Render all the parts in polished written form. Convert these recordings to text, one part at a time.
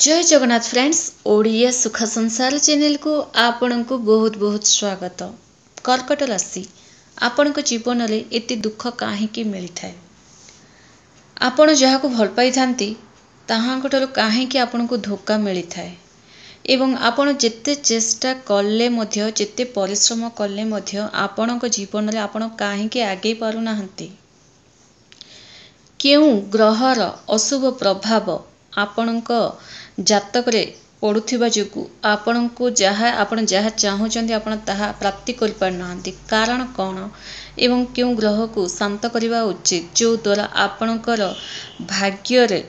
ଜୟ Jagannath friends, Odia ସୁଖ ସଂସାର ଚ୍ୟାନେଲକୁ ଆପଣଙ୍କୁ ବହୁତ ବହୁତ ସ୍ୱାଗତ। କର୍କଟ ରାଶି, ଆପଣଙ୍କ ଜୀବନରେ ଏତେ ଦୁଃଖ କାହିଁକି ମିଳିଥାଏ? ଆପଣ ଯାହାକୁ ଭଲ ପାଇଥାନ୍ତି ତାହାଙ୍କଠାରୁ କାହିଁକି ଆପଣଙ୍କୁ ଧୋକା ମିଳିଥାଏ? ଏବଂ ଆପଣ ଯେତେ ଚେଷ୍ଟା କଲେ ମଧ୍ୟ, ଯେତେ ପରିଶ୍ରମ କଲେ ମଧ୍ୟ ଆପଣଙ୍କ ଜୀବନରେ ଆପଣ କାହିଁକି ଆଗେଇ ପାରୁନାହାନ୍ତି? କେଉଁ ଗ୍ରହର ଅଶୁଭ ପ୍ରଭାବ ଆପଣଙ୍କ ଜାତକରେ ପଡ଼ୁଥିବା ଯୋଗୁଁ ଆପଣଙ୍କୁ ଯାହା ଆପଣ ଯାହା ଚାହୁଁଛନ୍ତି ଆପଣ ତାହା ପ୍ରାପ୍ତି କରିପାରୁନାହାନ୍ତି? କାରଣ କ'ଣ ଏବଂ କେଉଁ ଗ୍ରହକୁ ଶାନ୍ତ କରିବା ଉଚିତ, ଯେଉଁଦ୍ୱାରା ଆପଣଙ୍କର ଭାଗ୍ୟରେ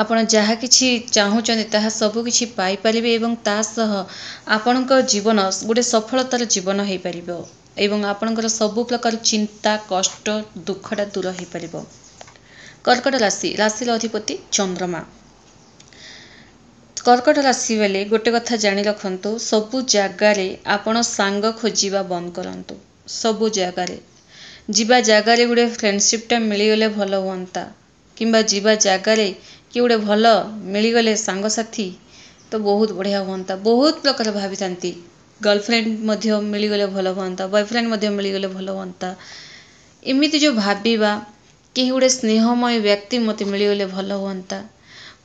ଆପଣ ଯାହା କିଛି ଚାହୁଁଛନ୍ତି ତାହା ସବୁକିଛି ପାଇପାରିବେ ଏବଂ ତା ସହ ଆପଣଙ୍କ ଜୀବନ ଗୋଟେ ସଫଳତାର ଜୀବନ ହୋଇପାରିବ ଏବଂ ଆପଣଙ୍କର ସବୁ ପ୍ରକାର ଚିନ୍ତା, କଷ୍ଟ, ଦୁଃଖଟା ଦୂର ହୋଇପାରିବ। କର୍କଟ ରାଶି, ରାଶିର ଅଧିପତି ଚନ୍ଦ୍ରମା। କର୍କଟ ରାଶି ବେଲେ ଗୋଟେ କଥା ଜାଣି ରଖନ୍ତୁ, ସବୁ ଜାଗାରେ ଆପଣ ସାଙ୍ଗ ଖୋଜିବା ବନ୍ଦ କରନ୍ତୁ। ସବୁ ଜାଗାରେ ଯିବା ଜାଗାରେ ଗୋଟେ ଫ୍ରେଣ୍ଡସିପ୍ଟା ମିଳିଗଲେ ଭଲ ହୁଅନ୍ତା, କିମ୍ବା ଯିବା ଜାଗାରେ କିଏ ଗୋଟେ ଭଲ ମିଳିଗଲେ ସାଙ୍ଗସାଥି ତ ବହୁତ ବଢ଼ିଆ ହୁଅନ୍ତା। ବହୁତ ପ୍ରକାର ଭାବିଥାନ୍ତି, ଗର୍ଲଫ୍ରେଣ୍ଡ ମଧ୍ୟ ମିଳିଗଲେ ଭଲ ହୁଅନ୍ତା, ବୟଫ୍ରେଣ୍ଡ ମଧ୍ୟ ମିଳିଗଲେ ଭଲ ହୁଅନ୍ତା। ଏମିତି ଯେଉଁ ଭାବିବା, କେହି ଗୋଟେ ସ୍ନେହମୟ ବ୍ୟକ୍ତି ମୋତେ ମିଳିଗଲେ ଭଲ ହୁଅନ୍ତା,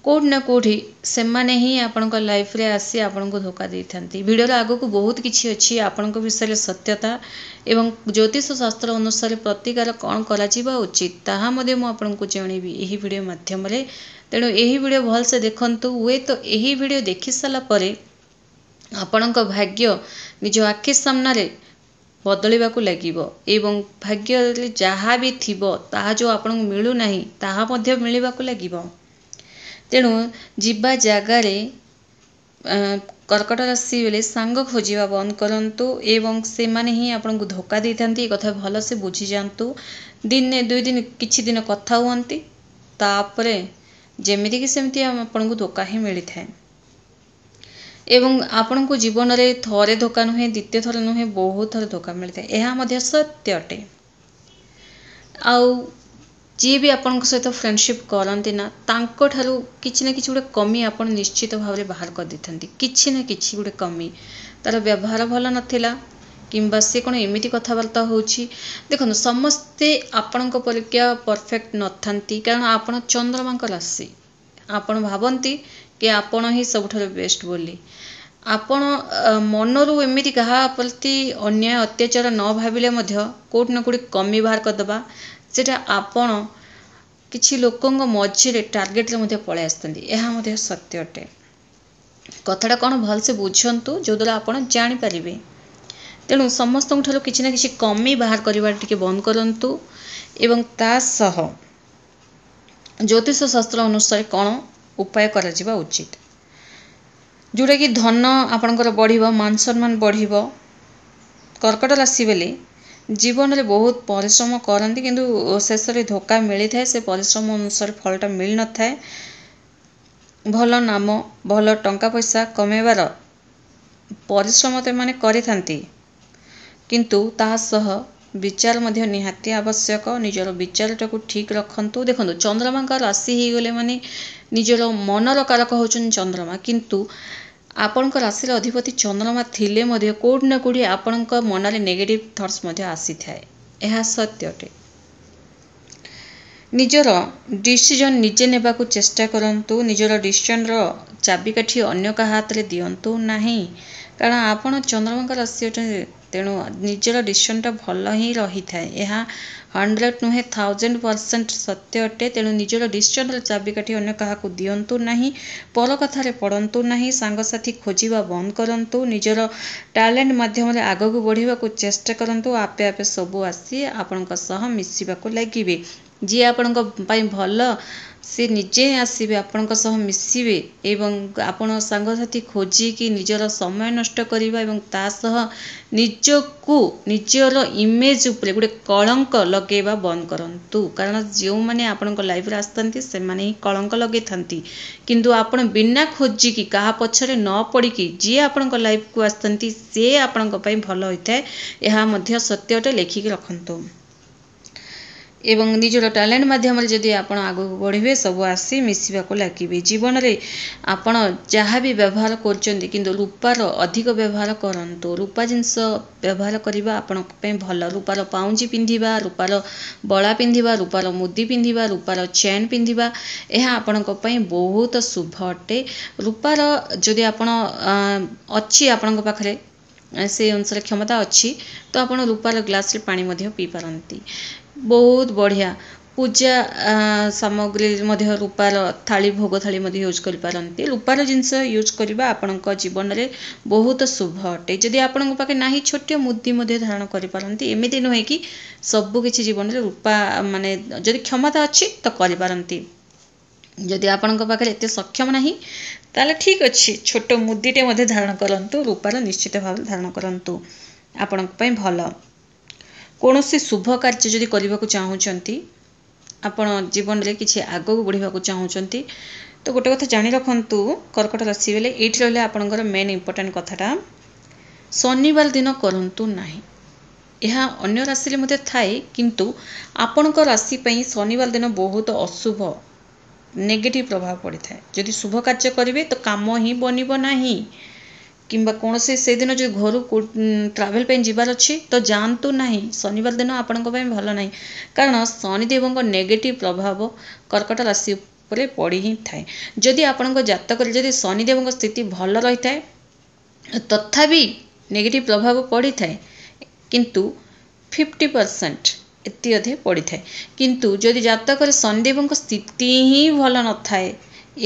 କେଉଁଠି ନା କେଉଁଠି ସେମାନେ ହିଁ ଆପଣଙ୍କ ଲାଇଫ୍ରେ ଆସି ଆପଣଙ୍କୁ ଧୋକା ଦେଇଥାନ୍ତି। ଭିଡ଼ିଓର ଆଗକୁ ବହୁତ କିଛି ଅଛି ଆପଣଙ୍କ ବିଷୟରେ ସତ୍ୟତା ଏବଂ ଜ୍ୟୋତିଷ ଶାସ୍ତ୍ର ଅନୁସାରେ ପ୍ରତିକାର କ'ଣ କରାଯିବା ଉଚିତ, ତାହା ମଧ୍ୟ ମୁଁ ଆପଣଙ୍କୁ ଜଣେଇବି ଏହି ଭିଡ଼ିଓ ମାଧ୍ୟମରେ। ତେଣୁ ଏହି ଭିଡ଼ିଓ ଭଲସେ ଦେଖନ୍ତୁ। ହୁଏତ ଏହି ଭିଡ଼ିଓ ଦେଖି ସାରିଲା ପରେ ଆପଣଙ୍କ ଭାଗ୍ୟ ନିଜ ଆଖି ସାମ୍ନାରେ ବଦଳିବାକୁ ଲାଗିବ ଏବଂ ଭାଗ୍ୟରେ ଯାହା ବି ଥିବ ତାହା ଯେଉଁ ଆପଣଙ୍କୁ ମିଳୁନାହିଁ ତାହା ମଧ୍ୟ ମିଳିବାକୁ ଲାଗିବ। ତେଣୁ ଯିବା ଜାଗାରେ କର୍କଟ ରାଶି ବେଳେ ସାଙ୍ଗ ଖୋଜିବା ବନ୍ଦ କରନ୍ତୁ ଏବଂ ସେମାନେ ହିଁ ଆପଣଙ୍କୁ ଧୋକା ଦେଇଥାନ୍ତି, ଏ କଥା ଭଲସେ ବୁଝିଯାଆନ୍ତୁ। ଦିନେ ଦୁଇ ଦିନ କିଛି ଦିନ କଥା ହୁଅନ୍ତି, ତାପରେ ଯେମିତିକି ସେମିତି ଆପଣଙ୍କୁ ଧୋକା ହିଁ ମିଳିଥାଏ। ଏବଂ ଆପଣଙ୍କୁ ଜୀବନରେ ଥରେ ଧୋକା ନୁହେଁ, ଦ୍ୱିତୀୟ ଥର ନୁହେଁ, ବହୁତ ଥର ଧୋକା ମିଳିଥାଏ, ଏହା ମଧ୍ୟ ସତ୍ୟ ଅଟେ। ଆଉ ଯିଏ ବି ଆପଣଙ୍କ ସହିତ ଫ୍ରେଣ୍ଡସିପ୍ କରନ୍ତି ନା, ତାଙ୍କଠାରୁ କିଛି ନା କିଛି ଗୋଟେ କମି ଆପଣ ନିଶ୍ଚିତ ଭାବରେ ବାହାର କରିଦେଇଥାନ୍ତି। କିଛି ନା କିଛି ଗୋଟେ କମି, ତା'ର ବ୍ୟବହାର ଭଲ ନଥିଲା କିମ୍ବା ସେ କ'ଣ ଏମିତି କଥାବାର୍ତ୍ତା ହେଉଛି। ଦେଖନ୍ତୁ, ସମସ୍ତେ ଆପଣଙ୍କ ପରିକା ପରଫେକ୍ଟ ନଥାନ୍ତି, କାରଣ ଆପଣ ଚନ୍ଦ୍ରମାଙ୍କ ରାଶି। ଆପଣ ଭାବନ୍ତି କି ଆପଣ ହିଁ ସବୁଠାରୁ ବେଷ୍ଟ ବୋଲି। ଆପଣ ମନରୁ ଏମିତି କାହା ପ୍ରତି ଅନ୍ୟାୟ ଅତ୍ୟାଚାର ନ ଭାବିଲେ ମଧ୍ୟ କେଉଁଠି ନା କେଉଁଠି କମି ବାହାର କରିଦେବା, ସେଇଟା ଆପଣ କିଛି ଲୋକଙ୍କ ମଝିରେ ଟାର୍ଗେଟରେ ମଧ୍ୟ ପଳାଇ ଆସିଥାନ୍ତି, ଏହା ମଧ୍ୟ ସତ୍ୟ ଅଟେ। କଥାଟା କ'ଣ ଭଲସେ ବୁଝନ୍ତୁ, ଯେଉଁଦ୍ୱାରା ଆପଣ ଜାଣିପାରିବେ। ତେଣୁ ସମସ୍ତଙ୍କ ଠାରୁ କିଛି ନା କିଛି କମି ବାହାର କରିବା ଟିକେ ବନ୍ଦ କରନ୍ତୁ ଏବଂ ତା ସହ ଜ୍ୟୋତିଷ ଶାସ୍ତ୍ର ଅନୁସାରେ କ'ଣ ଉପାୟ କରାଯିବା ଉଚିତ, ଯେଉଁଟାକି ଧନ ଆପଣଙ୍କର ବଢ଼ିବ, ମାନ ସମ୍ମାନ ବଢ଼ିବ। କର୍କଟ ରାଶି ବେଲେ ଜୀବନରେ ବହୁତ ପରିଶ୍ରମ କରନ୍ତି, କିନ୍ତୁ ଶେଷରେ ଧୋକା ମିଳିଥାଏ, ସେ ପରିଶ୍ରମ ଅନୁସାରେ ଫଳଟା ମିଳିନଥାଏ। ଭଲ ନାମ, ଭଲ ଟଙ୍କା ପଇସା କମେଇବାର ପରିଶ୍ରମ ତ ଏମାନେ କରିଥାନ୍ତି, କିନ୍ତୁ ତାହା ସହ ବିଚାର ମଧ୍ୟ ନିହାତି ଆବଶ୍ୟକ। ନିଜର ବିଚାରଟାକୁ ଠିକ୍ ରଖନ୍ତୁ। ଦେଖନ୍ତୁ, ଚନ୍ଦ୍ରମାଙ୍କ ରାଶି ହେଇଗଲେ ମାନେ ନିଜର ମନର କାରକ ହେଉଛନ୍ତି ଚନ୍ଦ୍ରମା, କିନ୍ତୁ ଆପଣଙ୍କ ରାଶିର ଅଧିପତି ଚନ୍ଦ୍ରମା ଥିଲେ ମଧ୍ୟ କେଉଁଠି ନା କେଉଁଠି ଆପଣଙ୍କ ମନରେ ନେଗେଟିଭ୍ ଥଟ୍ସ ମଧ୍ୟ ଆସିଥାଏ, ଏହା ସତ୍ୟ ଅଟେ। ନିଜର ଡିସିଜନ୍ ନିଜେ ନେବାକୁ ଚେଷ୍ଟା କରନ୍ତୁ। ନିଜର ଡିସିଜନ୍ର ଚାବିକାଠି ଅନ୍ୟ କାହା ହାତରେ ଦିଅନ୍ତୁ ନାହିଁ, କାରଣ ଆପଣ ଚନ୍ଦ୍ରମାଙ୍କ ରାଶି ଅଟନ୍ତି। ତେଣୁ ନିଜର ଡିସିଜନ୍ଟା ଭଲ ହିଁ ରହିଥାଏ, ଏହା 100 ନୁହେଁ 1000% ସତ୍ୟ ଅଟେ। ତେଣୁ ନିଜର ଡିସିଜନ୍ର ଚାବିକାଠି ଅନ୍ୟ କାହାକୁ ଦିଅନ୍ତୁ ନାହିଁ, ପର କଥାରେ ପଡ଼ନ୍ତୁ ନାହିଁ, ସାଙ୍ଗସାଥି ଖୋଜିବା ବନ୍ଦ କରନ୍ତୁ, ନିଜର ଟ୍ୟାଲେଣ୍ଟ ମାଧ୍ୟମରେ ଆଗକୁ ବଢ଼ିବାକୁ ଚେଷ୍ଟା କରନ୍ତୁ। ଆପେ ଆପେ ସବୁ ଆସି ଆପଣଙ୍କ ସହ ମିଶିବାକୁ ଲାଗିବେ। ଯିଏ ଆପଣଙ୍କ ପାଇଁ ଭଲ ସେ ନିଜେ ଆସିବେ, ଆପଣଙ୍କ ସହ ମିଶିବେ ଏବଂ ଆପଣ ସାଙ୍ଗସାଥି ଖୋଜିକି ନିଜର ସମୟ ନଷ୍ଟ କରିବା ଏବଂ ତା ସହ ନିଜକୁ ନିଜର ଇମେଜ୍ ଉପରେ ଗୋଟେ କଳଙ୍କ ଲଗାଇବା ବନ୍ଦ କରନ୍ତୁ। କାରଣ ଯେଉଁମାନେ ଆପଣଙ୍କ ଲାଇଫ୍ରେ ଆସିଥାନ୍ତି ସେମାନେ ହିଁ କଳଙ୍କ ଲଗାଇଥାନ୍ତି, କିନ୍ତୁ ଆପଣ ବିନା ଖୋଜିକି କାହା ପଛରେ ନ ପଡ଼ିକି ଯିଏ ଆପଣଙ୍କ ଲାଇଫ୍କୁ ଆସିଥାନ୍ତି ସେ ଆପଣଙ୍କ ପାଇଁ ଭଲ ହୋଇଥାଏ, ଏହା ମଧ୍ୟ ସତ୍ୟ ଅଟେ, ଲେଖିକି ରଖନ୍ତୁ। ଏବଂ ନିଜର ଟ୍ୟାଲେଣ୍ଟ ମାଧ୍ୟମରେ ଯଦି ଆପଣ ଆଗକୁ ବଢ଼ିବେ, ସବୁ ଆସି ମିଶିବାକୁ ଲାଗିବେ। ଜୀବନରେ ଆପଣ ଯାହା ବି ବ୍ୟବହାର କରୁଛନ୍ତି, କିନ୍ତୁ ରୂପାର ଅଧିକ ବ୍ୟବହାର କରନ୍ତୁ। ରୂପା ଜିନିଷ ବ୍ୟବହାର କରିବା ଆପଣଙ୍କ ପାଇଁ ଭଲ। ରୂପାର ପାଉଁଜି ପିନ୍ଧିବା, ରୂପାର ବଳା ପିନ୍ଧିବା, ରୂପାର ମୁଦି ପିନ୍ଧିବା, ରୂପାର ଚେନ୍ ପିନ୍ଧିବା, ଏହା ଆପଣଙ୍କ ପାଇଁ ବହୁତ ଶୁଭ ଅଟେ। ରୂପାର ଯଦି ଆପଣ ଅଛି, ଆପଣଙ୍କ ପାଖରେ ସେଇ ଅନୁସାରେ କ୍ଷମତା ଅଛି, ତ ଆପଣ ରୂପାର ଗ୍ଲାସ୍ରେ ପାଣି ମଧ୍ୟ ପିଇପାରନ୍ତି, ବହୁତ ବଢ଼ିଆ। ପୂଜା ସାମଗ୍ରୀ ମଧ୍ୟ ରୂପାର ଥାଳି, ଭୋଗ ଥାଳି ମଧ୍ୟ ୟୁଜ୍ କରିପାରନ୍ତି। ରୂପାର ଜିନିଷ ୟୁଜ୍ କରିବା ଆପଣଙ୍କ ଜୀବନରେ ବହୁତ ଶୁଭ ଅଟେ। ଯଦି ଆପଣଙ୍କ ପାଖେ ନାହିଁ, ଛୋଟିଆ ମୁଦି ମଧ୍ୟ ଧାରଣ କରିପାରନ୍ତି। ଏମିତି ନୁହେଁ କି ସବୁକିଛି ଜୀବନରେ ରୂପା, ମାନେ ଯଦି କ୍ଷମତା ଅଛି ତ କରିପାରନ୍ତି। ଯଦି ଆପଣଙ୍କ ପାଖରେ ଏତେ ସକ୍ଷମ ନାହିଁ, ତାହେଲେ ଠିକ୍ ଅଛି, ଛୋଟ ମୁଦିଟେ ମଧ୍ୟ ଧାରଣ କରନ୍ତୁ। ରୂପାର ନିଶ୍ଚିତ ଭାବରେ ଧାରଣ କରନ୍ତୁ, ଆପଣଙ୍କ ପାଇଁ ଭଲ। କୌଣସି ଶୁଭ କାର୍ଯ୍ୟ ଯଦି କରିବାକୁ ଚାହୁଁଛନ୍ତି, ଆପଣ ଜୀବନରେ କିଛି ଆଗକୁ ବଢ଼ିବାକୁ ଚାହୁଁଛନ୍ତି, ତ ଗୋଟେ କଥା ଜାଣି ରଖନ୍ତୁ କର୍କଟ ରାଶି ବେଲେ, ଏଇଠି ରହିଲେ ଆପଣଙ୍କର ମେନ୍ ଇମ୍ପୋର୍ଟାଣ୍ଟ କଥାଟା, ଶନିବାର ଦିନ କରନ୍ତୁ ନାହିଁ। ଏହା ଅନ୍ୟ ରାଶିରେ ମଧ୍ୟ ଥାଏ, କିନ୍ତୁ ଆପଣଙ୍କ ରାଶି ପାଇଁ ଶନିବାର ଦିନ ବହୁତ ଅଶୁଭ, ନେଗେଟିଭ୍ ପ୍ରଭାବ ପଡ଼ିଥାଏ। ଯଦି ଶୁଭ କାର୍ଯ୍ୟ କରିବେ ତ କାମ ହିଁ ବନିବ ନାହିଁ, କିମ୍ବା କୌଣସି ସେଦିନ ଯଦି ଘରୁ ଟ୍ରାଭେଲ୍ ପାଇଁ ଯିବାର ଅଛି ତ ଯାଆନ୍ତୁ ନାହିଁ। ଶନିବାର ଦିନ ଆପଣଙ୍କ ପାଇଁ ଭଲ ନାହିଁ, କାରଣ ଶନିଦେବଙ୍କ ନେଗେଟିଭ୍ ପ୍ରଭାବ କର୍କଟ ରାଶି ଉପରେ ପଡ଼ି ହିଁ ଥାଏ। ଯଦି ଆପଣଙ୍କ ଜାତକରେ ଯଦି ଶନିଦେବଙ୍କ ସ୍ଥିତି ଭଲ ରହିଥାଏ, ତଥାପି ନେଗେଟିଭ୍ ପ୍ରଭାବ ପଡ଼ିଥାଏ, କିନ୍ତୁ 50% ଏତି ଅଧେ ପଡ଼ିଥାଏ। କିନ୍ତୁ ଯଦି ଜାତକରେ ଶନିଦେବଙ୍କ ସ୍ଥିତି ହିଁ ଭଲ ନଥାଏ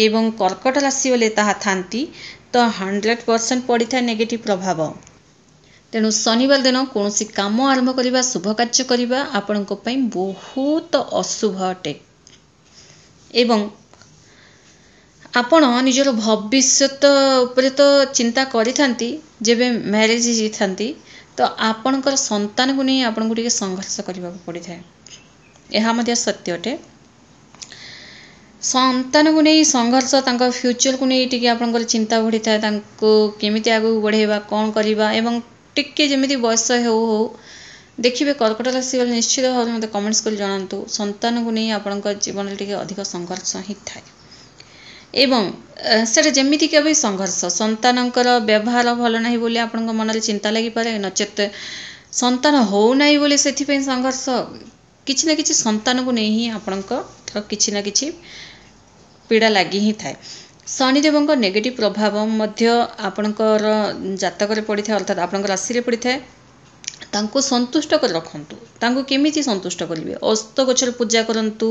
ଏବଂ କର୍କଟ ରାଶି ବୋଲେ ତାହା ଥାନ୍ତି, ତ 100% ପଡ଼ିଥାଏ ନେଗେଟିଭ୍ ପ୍ରଭାବ। ତେଣୁ ଶନିବାର ଦିନ କୌଣସି କାମ ଆରମ୍ଭ କରିବା, ଶୁଭ କାର୍ଯ୍ୟ କରିବା ଆପଣଙ୍କ ପାଇଁ ବହୁତ ଅଶୁଭ ଅଟେ। ଏବଂ ଆପଣ ନିଜର ଭବିଷ୍ୟତ ଉପରେ ତ ଚିନ୍ତା କରିଥାନ୍ତି, ଯେବେ ମ୍ୟାରେଜ୍ ହେଇଯାଇଥାନ୍ତି ତ ଆପଣଙ୍କର ସନ୍ତାନକୁ ନେଇ ଆପଣଙ୍କୁ ଟିକେ ସଂଘର୍ଷ କରିବାକୁ ପଡ଼ିଥାଏ, ଏହା ମଧ୍ୟ ସତ୍ୟ ଅଟେ। ସନ୍ତାନକୁ ନେଇ ସଂଘର୍ଷ, ତାଙ୍କ ଫ୍ୟୁଚରକୁ ନେଇ ଟିକେ ଆପଣଙ୍କର ଚିନ୍ତା ବଢ଼ିଥାଏ, ତାଙ୍କୁ କେମିତି ଆଗକୁ ବଢ଼େଇବା, କ'ଣ କରିବା। ଏବଂ ଟିକେ ଯେମିତି ବୟସ ହେଉ ହେଉ ଦେଖିବେ, କର୍କଟ ରାଶି ଗଲେ ନିଶ୍ଚିତ ଭାବରେ ମୋତେ କମେଣ୍ଟସ୍ କରି ଜଣାନ୍ତୁ, ସନ୍ତାନକୁ ନେଇ ଆପଣଙ୍କ ଜୀବନରେ ଟିକେ ଅଧିକ ସଂଘର୍ଷ ହିଁ ଥାଏ। ଏବଂ ସେଇଟା ଯେମିତିକା ବି ସଂଘର୍ଷ, ସନ୍ତାନଙ୍କର ବ୍ୟବହାର ଭଲ ନାହିଁ ବୋଲି ଆପଣଙ୍କ ମନରେ ଚିନ୍ତା ଲାଗିପାରେ, ନଚେତ ସନ୍ତାନ ହେଉନାହିଁ ବୋଲି ସେଥିପାଇଁ ସଂଘର୍ଷ, କିଛି ନା କିଛି ସନ୍ତାନକୁ ନେଇ ହିଁ ଆପଣଙ୍କର କିଛି ନା କିଛି ପୀଡ଼ା ଲାଗି ହିଁ ଥାଏ। ଶନିଦେବଙ୍କ ନେଗେଟିଭ୍ ପ୍ରଭାବ ମଧ୍ୟ ଆପଣଙ୍କର ଜାତକରେ ପଡ଼ିଥାଏ, ଅର୍ଥାତ୍ ଆପଣଙ୍କ ରାଶିରେ ପଡ଼ିଥାଏ। ତାଙ୍କୁ ସନ୍ତୁଷ୍ଟ କରି ରଖନ୍ତୁ। ତାଙ୍କୁ କେମିତି ସନ୍ତୁଷ୍ଟ କରିବେ? ଓସ୍ତ ଗଛରେ ପୂଜା କରନ୍ତୁ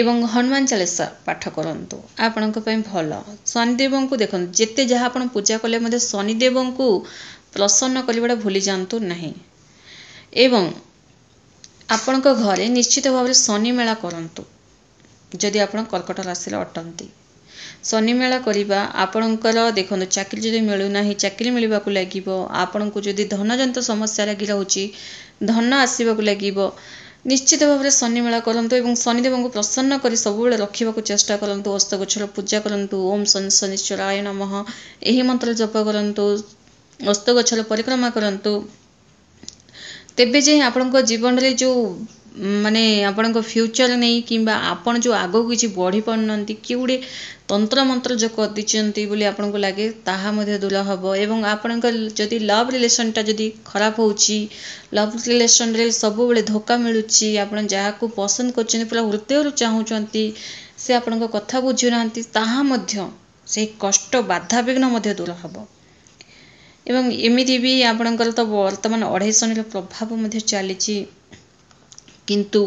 ଏବଂ ହନୁମାନ ଚାଳିଶା ପାଠ କରନ୍ତୁ, ଆପଣଙ୍କ ପାଇଁ ଭଲ। ଶନିଦେବଙ୍କୁ ଦେଖନ୍ତୁ, ଯେତେ ଯାହା ଆପଣ ପୂଜା କଲେ ମଧ୍ୟ ଶନିଦେବଙ୍କୁ ପ୍ରସନ୍ନ କରିବାଟା ଭୁଲି ଯାଆନ୍ତୁ ନାହିଁ। ଏବଂ ଆପଣଙ୍କ ଘରେ ନିଶ୍ଚିତ ଭାବରେ ଶନି ମେଳା କରନ୍ତୁ ଯଦି ଆପଣ କର୍କଟ ରାଶିର ଅଟନ୍ତି। ଶନିମେଳା କରିବା ଆପଣଙ୍କର, ଦେଖନ୍ତୁ, ଚାକିରି ଯଦି ମିଳୁନାହିଁ ଚାକିରି ମିଳିବାକୁ ଲାଗିବ। ଆପଣଙ୍କୁ ଯଦି ଧନଜନିତ ସମସ୍ୟା ଲାଗି ରହୁଛି, ଧନ ଆସିବାକୁ ଲାଗିବ। ନିଶ୍ଚିତ ଭାବରେ ଶନିମେଳା କରନ୍ତୁ ଏବଂ ଶନିଦେବଙ୍କୁ ପ୍ରସନ୍ନ କରି ସବୁବେଳେ ରଖିବାକୁ ଚେଷ୍ଟା କରନ୍ତୁ। ଓସ୍ତ ଗଛର ପୂଜା କରନ୍ତୁ, ଓମ୍ ଶନି ଶନିଶ୍ଚରାୟ ନମଃ ଏହି ମନ୍ତ୍ର ଜପ କରନ୍ତୁ, ଓସ୍ତ ଗଛର ପରିକ୍ରମା କରନ୍ତୁ। ତେବେ ଯାଇ ଆପଣଙ୍କ ଜୀବନରେ ଯେଉଁ ମାନେ ଆପଣଙ୍କ ଫ୍ୟୁଚର୍ ନେଇ କିମ୍ବା ଆପଣ ଯେଉଁ ଆଗକୁ କିଛି ବଢ଼ି ପାରୁନାହାନ୍ତି, କିଏ ଗୋଟେ ତନ୍ତ୍ର ମନ୍ତ୍ର ଯେଉଁ କରିଦେଇଛନ୍ତି ବୋଲି ଆପଣଙ୍କୁ ଲାଗେ, ତାହା ମଧ୍ୟ ଦୂର ହେବ। ଏବଂ ଆପଣଙ୍କ ଯଦି ଲଭ୍ ରିଲେସନ୍ଟା ଯଦି ଖରାପ ହେଉଛି, ଲଭ୍ ରିଲେସନ୍ରେ ସବୁବେଳେ ଧୋକା ମିଳୁଛି, ଆପଣ ଯାହାକୁ ପସନ୍ଦ କରୁଛନ୍ତି, ପୁରା ହୃଦୟରୁ ଚାହୁଁଛନ୍ତି, ସେ ଆପଣଙ୍କ କଥା ବୁଝୁନାହାନ୍ତି, ତାହା ମଧ୍ୟ ସେଇ କଷ୍ଟ ବାଧାବିଘ୍ନ ମଧ୍ୟ ଦୂର ହେବ। ଏବଂ ଏମିତି ବି ଆପଣଙ୍କର ତ ବର୍ତ୍ତମାନ ଅଢ଼େଇ ଶନିର ପ୍ରଭାବ ମଧ୍ୟ ଚାଲିଛି, କିନ୍ତୁ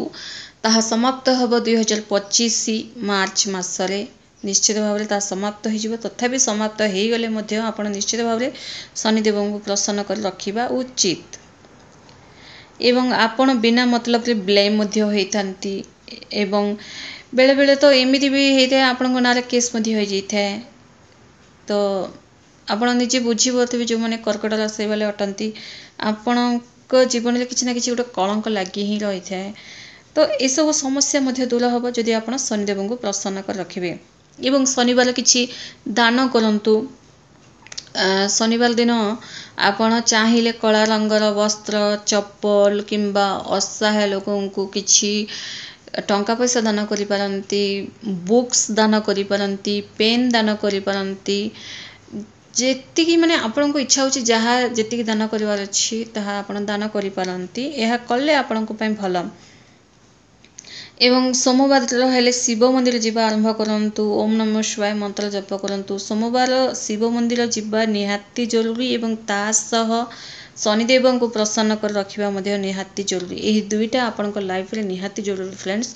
ତାହା ସମାପ୍ତ ହେବ 2025 ମାର୍ଚ୍ଚ ମାସରେ। ନିଶ୍ଚିତ ଭାବରେ ତାହା ସମାପ୍ତ ହୋଇଯିବ। ତଥାପି ସମାପ୍ତ ହୋଇଗଲେ ମଧ୍ୟ ଆପଣ ନିଶ୍ଚିତ ଭାବରେ ଶନିଦେବଙ୍କୁ ପ୍ରସନ୍ନ କରି ରଖିବା ଉଚିତ। ଏବଂ ଆପଣ ବିନା ମତଲବରେ ବ୍ଲେମ୍ ମଧ୍ୟ ହୋଇଥାନ୍ତି, ଏବଂ ବେଳେବେଳେ ତ ଏମିତି ବି ହେଇଥାଏ ଆପଣଙ୍କ ନାଁରେ କେସ୍ ମଧ୍ୟ ହୋଇଯାଇଥାଏ। ତ ଆପଣ ନିଜେ ବୁଝିପାରୁଥିବେ, ଯେଉଁମାନେ କର୍କଟ ରାଶି ବାଲେ ଅଟନ୍ତି, ଆପଣଙ୍କ ଜୀବନରେ କିଛି ନା କିଛି ଗୋଟେ କଳଙ୍କ ଲାଗି ହିଁ ରହିଥାଏ। ତ ଏସବୁ ସମସ୍ୟା ମଧ୍ୟ ଦୂର ହେବ ଯଦି ଆପଣ ଶନିଦେବଙ୍କୁ ପ୍ରସନ୍ନ କରି ରଖିବେ। ଏବଂ ଶନିବାର କିଛି ଦାନ କରନ୍ତୁ, ଶନିବାର ଦିନ ଆପଣ ଚାହିଁଲେ କଳା ରଙ୍ଗର ବସ୍ତ୍ର, ଚପଲ କିମ୍ବା ଅସହାୟ ଲୋକଙ୍କୁ କିଛି ଟଙ୍କା ପଇସା ଦାନ କରିପାରନ୍ତି, ବୁକ୍ସ ଦାନ କରିପାରନ୍ତି, ପେନ୍ ଦାନ କରିପାରନ୍ତି। ଯେତିକି ମାନେ ଆପଣଙ୍କୁ ଇଚ୍ଛା ହେଉଛି, ଯାହା ଯେତିକି ଦାନ କରିବାର ଅଛି ତାହା ଆପଣ ଦାନ କରିପାରନ୍ତି। ଏହା କଲେ ଆପଣଙ୍କ ପାଇଁ ଭଲ। ଏବଂ ସୋମବାର ହେଲେ ଶିବ ମନ୍ଦିର ଯିବା ଆରମ୍ଭ କରନ୍ତୁ, ଓମ୍ ନମଃ ଶିବାୟ ମନ୍ତ୍ର ଜପ କରନ୍ତୁ। ସୋମବାର ଶିବ ମନ୍ଦିର ଯିବା ନିହାତି ଜରୁରୀ ଏବଂ ତା ସହ ଶନିଦେବଙ୍କୁ ପ୍ରସନ୍ନ କରି ରଖିବା ମଧ୍ୟ ନିହାତି ଜରୁରୀ। ଏହି ଦୁଇଟା ଆପଣଙ୍କ ଲାଇଫରେ ନିହାତି ଜରୁରୀ ଫ୍ରେଣ୍ଡସ୍।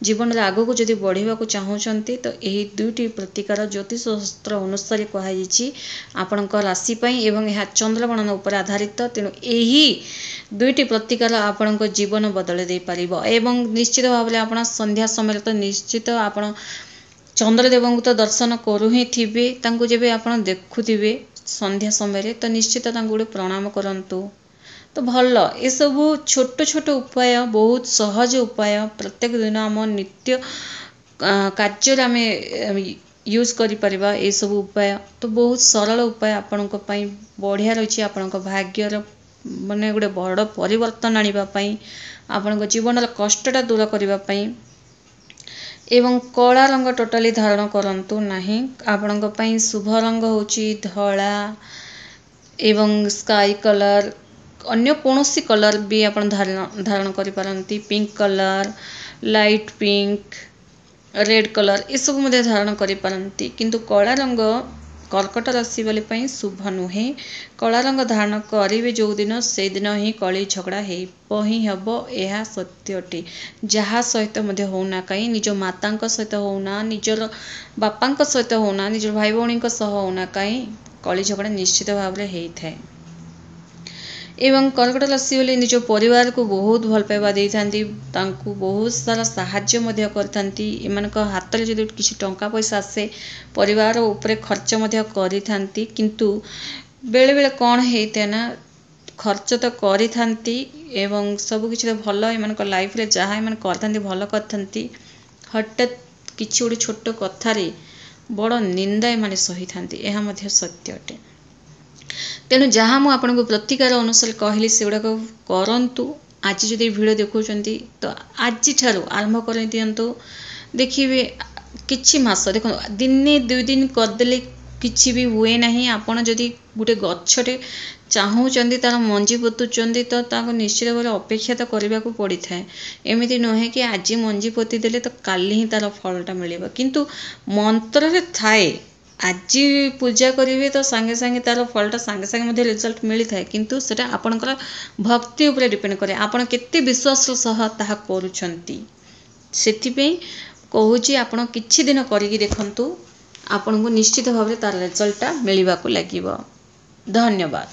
ଜୀବନରେ ଆଗକୁ ଯଦି ବଢ଼ିବାକୁ ଚାହୁଁଛନ୍ତି ତ ଏହି ଦୁଇଟି ପ୍ରତିକାର ଜ୍ୟୋତିଷ ଶାସ୍ତ୍ର ଅନୁସାରେ କୁହାଯାଇଛି ଆପଣଙ୍କ ରାଶି ପାଇଁ, ଏବଂ ଏହା ଚନ୍ଦ୍ରଗଣନା ଉପରେ ଆଧାରିତ। ତେଣୁ ଏହି ଦୁଇଟି ପ୍ରତିକାର ଆପଣଙ୍କ ଜୀବନ ବଦଳାଇ ଦେଇପାରିବ। ଏବଂ ନିଶ୍ଚିତ ଭାବରେ ଆପଣ ସନ୍ଧ୍ୟା ସମୟରେ ତ ନିଶ୍ଚିତ ଆପଣ ଚନ୍ଦ୍ରଦେବଙ୍କୁ ତ ଦର୍ଶନ କରୁ ହିଁ ଥିବେ। ତାଙ୍କୁ ଯେବେ ଆପଣ ଦେଖୁଥିବେ ସନ୍ଧ୍ୟା ସମୟରେ ତ ନିଶ୍ଚିତ ତାଙ୍କୁ ଗୋଟେ ପ୍ରଣାମ କରନ୍ତୁ ତ ଭଲ। ଏସବୁ ଛୋଟ ଛୋଟ ଉପାୟ, ବହୁତ ସହଜ ଉପାୟ, ପ୍ରତ୍ୟେକ ଦିନ ଆମ ନିତ୍ୟ କାର୍ଯ୍ୟରେ ଆମେ ୟୁଜ୍ କରିପାରିବା ଏସବୁ ଉପାୟ। ତ ବହୁତ ସରଳ ଉପାୟ ଆପଣଙ୍କ ପାଇଁ ବଢ଼ିଆ ରହିଛି, ଆପଣଙ୍କ ଭାଗ୍ୟର ମାନେ ଗୋଟେ ବଡ଼ ପରିବର୍ତ୍ତନ ଆଣିବା ପାଇଁ, ଆପଣଙ୍କ ଜୀବନର କଷ୍ଟଟା ଦୂର କରିବା ପାଇଁ। ଏବଂ କଳା ରଙ୍ଗ ଟୋଟାଲି ଧାରଣ କରନ୍ତୁ ନାହିଁ। ଆପଣଙ୍କ ପାଇଁ ଶୁଭ ରଙ୍ଗ ହେଉଛି ଧଳା ଏବଂ ସ୍କାଇ କଲର୍। ଅନ୍ୟ କୌଣସି କଲର୍ ବି ଆପଣ ଧାରଣ କରିପାରନ୍ତି, pink colour, light pink, red colour ଏସବୁ ମଧ୍ୟ ଧାରଣ କରିପାରନ୍ତି। କିନ୍ତୁ କଳା ରଙ୍ଗ କର୍କଟ ରାଶି ବାଲି ପାଇଁ ଶୁଭ ନୁହେଁ। କଳା ରଙ୍ଗ ଧାରଣ କରିବେ ଯେଉଁଦିନ, ସେଇଦିନ ହିଁ କଳି ଝଗଡ଼ା ହେବ ହିଁ ହେବ, ଏହା ସତ୍ୟଟି। ଯାହା ସହିତ ମଧ୍ୟ ହେଉନା କାହିଁ, ନିଜ ମାତାଙ୍କ ସହିତ ହେଉନା, ନିଜର ବାପାଙ୍କ ସହିତ ହେଉନା, ନିଜର ଭାଇ ଭଉଣୀଙ୍କ ସହ ହେଉନା କାହିଁ, କଳି ଝଗଡ଼ା ନିଶ୍ଚିତ ଭାବରେ ହେଇଥାଏ। ଏବଂ କର୍କଟ ରାଶି ବୋଲି ନିଜ ପରିବାରକୁ ବହୁତ ଭଲ ପାଇବା ଦେଇଥାନ୍ତି, ତାଙ୍କୁ ବହୁତ ସାରା ସାହାଯ୍ୟ ମଧ୍ୟ କରିଥାନ୍ତି। ଏମାନଙ୍କ ହାତରେ ଯଦି କିଛି ଟଙ୍କା ପଇସା ଆସେ, ପରିବାର ଉପରେ ଖର୍ଚ୍ଚ ମଧ୍ୟ କରିଥାନ୍ତି। କିନ୍ତୁ ବେଳେବେଳେ କ'ଣ ହେଇଥାଏ ନା, ଖର୍ଚ୍ଚ ତ କରିଥାନ୍ତି ଏବଂ ସବୁକିଛି ତ ଭଲ, ଏମାନଙ୍କ ଲାଇଫରେ ଯାହା ଏମାନେ କରିଥାନ୍ତି ଭଲ କରିଥାନ୍ତି, ହଠାତ୍ କିଛି ଗୋଟେ ଛୋଟ କଥାରେ ବଡ଼ ନିନ୍ଦା ଏମାନେ ସହିଥାନ୍ତି, ଏହା ମଧ୍ୟ ସତ୍ୟ ଅଟେ। ତେଣୁ ଯାହା ମୁଁ ଆପଣଙ୍କୁ ପ୍ରତିକାର ଅନୁସାରେ କହିଲି ସେଗୁଡ଼ାକ କରନ୍ତୁ। ଆଜି ଯଦି ଭିଡ଼ିଓ ଦେଖୁଛନ୍ତି ତ ଆଜିଠାରୁ ଆରମ୍ଭ କରିଦିଅନ୍ତୁ। ଦେଖିବେ କିଛି ମାସ, ଦେଖନ୍ତୁ ଦିନେ ଦୁଇ ଦିନ କରିଦେଲେ କିଛି ବି ହୁଏ ନାହିଁ। ଆପଣ ଯଦି ଗୋଟେ ଗଛଟେ ଚାହୁଁଛନ୍ତି, ତା'ର ମଞ୍ଜି ପୋତୁଛନ୍ତି, ତ ତାକୁ ନିଶ୍ଚିତ ଭାବରେ ଅପେକ୍ଷା ତ କରିବାକୁ ପଡ଼ିଥାଏ। ଏମିତି ନୁହେଁ କି ଆଜି ମଞ୍ଜି ପୋତି ଦେଲେ ତ କାଲି ହିଁ ତା'ର ଫଳଟା ମିଳିବ। କିନ୍ତୁ ମନ୍ତ୍ରରେ ଥାଏ, ଆଜି ପୂଜା କରିବେ ତ ସାଙ୍ଗେ ସାଙ୍ଗେ ତା'ର ଫଳଟା ସାଙ୍ଗେ ସାଙ୍ଗେ ମଧ୍ୟ ରେଜଲ୍ଟ ମିଳିଥାଏ। କିନ୍ତୁ ସେଇଟା ଆପଣଙ୍କର ଭକ୍ତି ଉପରେ ଡିପେଣ୍ଡ କରେ, ଆପଣ କେତେ ବିଶ୍ୱାସର ସହ ତାହା କରୁଛନ୍ତି। ସେଥିପାଇଁ କହୁଛି ଆପଣ କିଛି ଦିନ କରିକି ଦେଖନ୍ତୁ, ଆପଣଙ୍କୁ ନିଶ୍ଚିତ ଭାବରେ ତା'ର ରେଜଲ୍ଟଟା ମିଳିବାକୁ ଲାଗିବ। ଧନ୍ୟବାଦ।